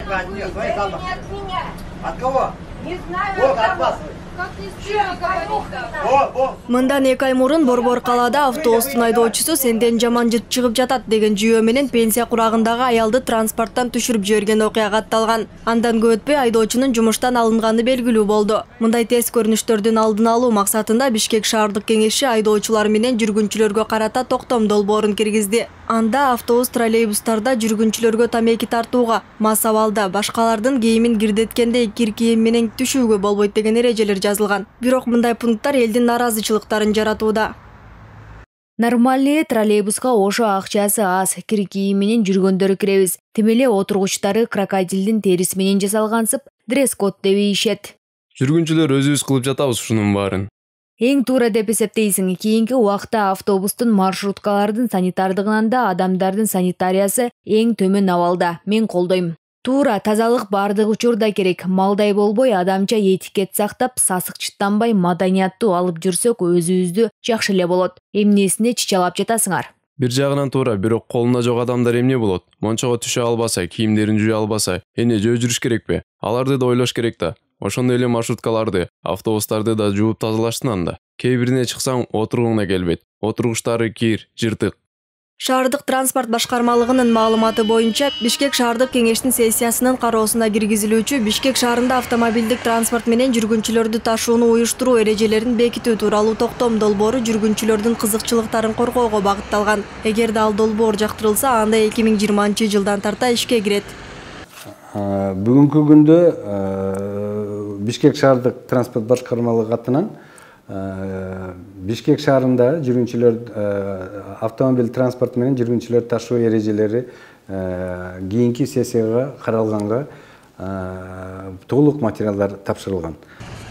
Нет, не от меня. От кого? Не знаю. Вот, от вас. Как не стыдно говорить. Мындан 2 ай мурун Борбор калаада автобустун айдоочусу сенден жаман жыт чыгып жатат деген жүйөө менен пенсия курагындагы аялды транспорттон түшүрүп жиберген окуя катталган. Андан көп өтпөй айдоочунун жумуштан алынганы белгилүү болду. Мындай терс көрүнүштөрдүн алдын алуу максатында Бишкек шаардык кеңеши айдоочулар менен жүргүнчүлөргө карата токтом долбоорун киргизди. Анда автобус троллейбустарда жүргүнчүлөргө тамеки тартууга, мас абалда башкалардын кийимин кирдеткенде кир кийим менен түшүүгө болбойт деген эрежелер жазылган. Бирок мындай пункттар элдин наразычылыктарын жаратууда. Нормальный троллейбуска ошо акчасы аз, кир кийим менен жүргөндөр киребиз. Тим эле отургучтары крокодилдин териси менен жасалгансып, дресс-код деп ийишет. Жүргүнчүлөр өзүбүз кылып жатабыз ушунун баарын. Эң туура деп эсептейсиң. Кийинки убакта автобустун маршруткалардын санитардыгынан да адамдардын санитариясы эң төмөн абалда. Мен колдойм. Туура, тазалык бардык учурда керек. Малдай болбой, адамча этикет сактап, сасык чыттанбай, маданияттуу алып жүрсөк, өзүбүздү жакшы эле болот. Эмнесине чычалап жатасыңар? Бир жагынан туура, бирок колунда жок адамдар эмне болот? Мончого түшө албаса, кийимдерин жуя албаса, эмне жөө жүрүш керекпи? Аларды да ойлош керек да. Ошондой эле маршруткаларды, автобустарды да жууп тазалаштын анда. Кээ бирине чыксаң, отургуңа келбейт. Отургучтары кир, жыртык. Шаардык транспорт башкармалыгынын маалыматы боюнча, Бишкек шаардык кеңештин сессиясынын кароосуна киргизилүүчү Бишкек шаарында автомобилдик транспорт менен жүргүнчүлөрдү ташууну уюштуруу эрежелерин бекитүү тууралуу токтом долбоору жүргүнчүлөрдүн кызыкчылыктарын коргоого багытталган. Эгерде ал долбоор жактырылса, анда 2020-жылдан тарта ишке кирет. Бүгүнкү күндө Бишкек шаардык транспорт башкармалыгы атынан Бишкек шаарында жүргүнчүлөр автомобиль транспорт менен жүргүнчүлөр ташуу эрежелери кийинки сессияга каралганга толук материалдар тапшырылган.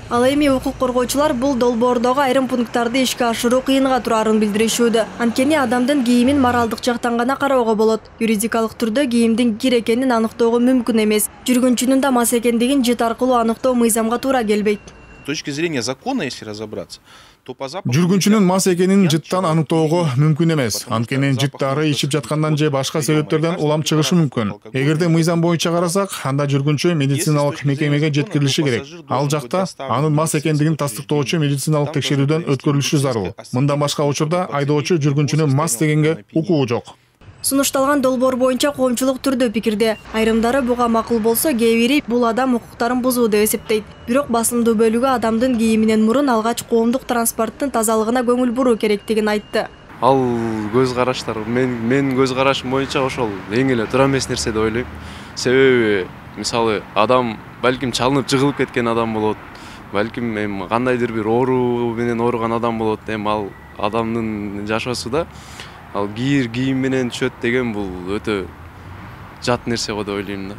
Ал эми укук коргоочулар бул долбоордогу айрым пункттарды ишке ашыруу кыйынга турарын билдиришүүдө. Анткени адамдын кийимин моралдык жактан гана кароого болот. Юридикалык түрдө кийимдин кир экенин аныктоого мүмкүн эмес. Жүргүнчүнүн да мас экендигин жыт аркылуу аныктоо мыйзамга туура келбейт. С точки зрения закона, если разобраться, то по запаху... Жүргүнчүнүн мас экенин жыттан аныктоого мүмкүн эмес. Анткени жыт дары ичип жаткандан же башка себептерден улам чыгышы мүмкүн. Эгерде мыйзам боюнча карасак, анда жүргүнчү медициналык мекемеге жеткирилиши керек. Ал жакта анын мас экендигин тастыктоочу медициналык текшерүүдөн өткөрүлүшү зарыл. Мындан башка учурда айдоочу жүргүнчүнү мас дегенге укугу жок. Сунушталган долбоор боюнча коомчулук түрдө пикирде. Айрымдары буга макул болсо, кээ бири бул адам укуктарын бузуу деп эсептейт. Бирок басымдуу бөлүгү адамдын кийиминен мурун алгач коомдук транспорттун тазалыгына көңүл буруу керектигин айтты. Ал көз караштар, мен көз карашым боюнча ошол эң эле туура эмес нерсе деп ойлойм. Себеби, мисалы, адам балким чалынып жыгылып кеткен адам болот. Балким кандайдыр бир оору менен ооруган адам болот. Ал адамдын жашоосу да ал кийим менен түшөт деген бул өтө жат нерсе го деп ойлойм да.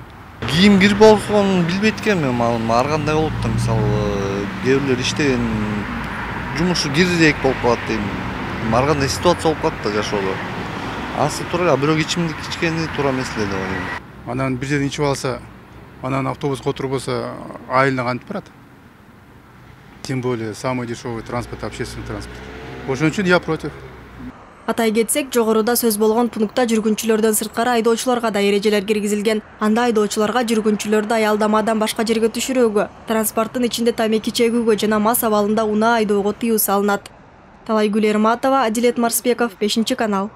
Кийим кир болгонун билбейт экенмин, ар кандай болот да, мисалы, кээ бирлер иштеген жумушу кирирээк болуп калат дейм. Ар кандай ситуация болуп калат да жашоодо. Анысы туура, бирок ичимдик ичкени туура эмес эле деп ойлойм. Анан бир жерден ичип алса, анан автобуска отурбоса, айылына кантип барат? Тем более самый дешевый транспорт, общественный транспорт. Ошон үчүн я против. Атай кетсек, жогоруда сөз болгон пунктта жүргүнчүлөрдөн сырткары айдоочуларга да эрежелер киргизилген. Анда айдоочуларга жүргүнчүлөрдү аялдамадан башка жерге түшүрүүгө, транспорттун ичинде тамеки чегүүгө жана мас абалында унаа айдоого тыюу салынат. Талайгүл Эрматова, Адилет Марсбеков, 5 канал.